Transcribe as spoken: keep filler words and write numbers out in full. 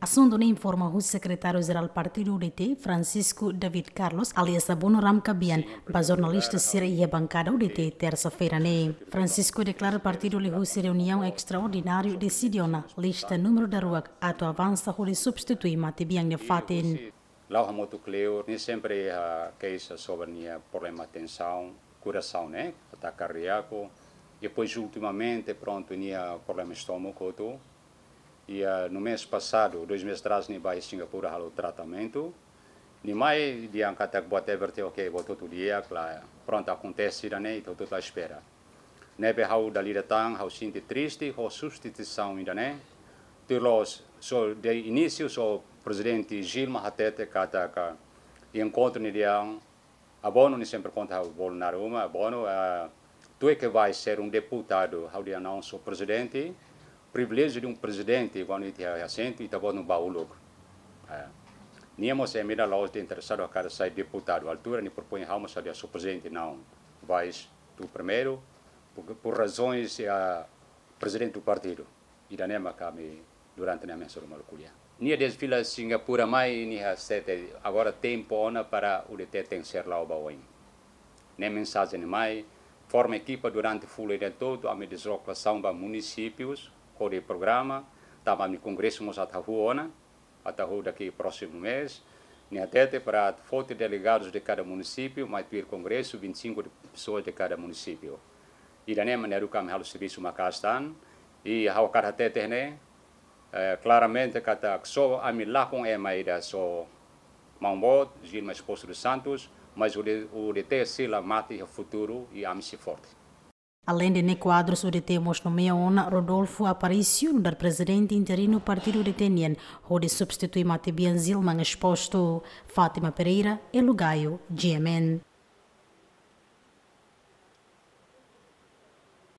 Asuntu ne'e informa husi Sekretáriu Jerál Partidu U D T, Francisco David Carlos, alias Abono Ramkabian, ba jornalista sira iha bankada U D T, tersa-feira ne'e. Francisco deklara partidu liuhusi reuniaun estraordináriu deside ona lista númeru daruak atu avansa hodi substitui matebian nia fatin. La'o hamutuk kleur, nia sempre iha keixa sobre nia problema tensaun, korasaun, ne'e, ataka kardíaku. Depois, ultimamente, prontu, nia problema estómagu, hotu. E, ah, no mês passado, dois meses atrás, nia bá Singapura halo tratamentu. Nia mai dehan katak buat everything ok, buat hotu di'ak, klaru. Prontu, akontese ida-ne'e, ita hotu espera. Ne'ebé ha'u dala ida tan, ha'u sente triste ho substituisaun ida-ne'e. Tuir loloos, só de inísiu, só Prezidente Gilmar hatete katak enkontru ne'e dehan, Abono, nia sempre konta ha'u bolu naruma, Abono, ah, tu é que vai ser um deputado, ha'u dehan não sou presidente, privilégio de um presidente, kuandu ita iha asentu, ita-boot bá uluk. Ah, nia mós ema ida la'ós interesadu hakarak sai deputadu, altura nia propoin ha'u mós ha'u dehan sou presidente, não, vais tu primeiro, por, por razões, ah, presidente do partido. Ida-ne'e mak ami durante ne'e ami hasoru malu ko'alia. Nia desfila Singapura mai, nia hatete, agora tempu ona para U D T tenke ser la'o ba oin. Ne'e mensajen mai, forma ekipa durante fulan ida todu, ami deslokasaun ba munisípius, hodi programa, tanba ami kongresu mós atu hahú ona, atu hahú daqui próximo mês. Nia hatete para foti delegadus de cada município, mai tuir kongresu, vinte e cinco de pessoas de cada município. Ida-ne'e mak ne'e haruka ami halo servisu maka'as tan. I ha'u hakarak hatete ne'e, eh, klaramente katak só ami lakon ema ida só maun-boot, Gilmar Exposto dos Santos, mas U D T sei la mate iha futuru i ami sei forte. Aleinde ne'e, kuadrus U D T mós nomeia ona Rodolfo Aparício nu'udar prezidente interinu partidu U D T nian, hodi substitui matebian Gilmar Exposto. Fátima Pereira, Elo Gaio, G M N.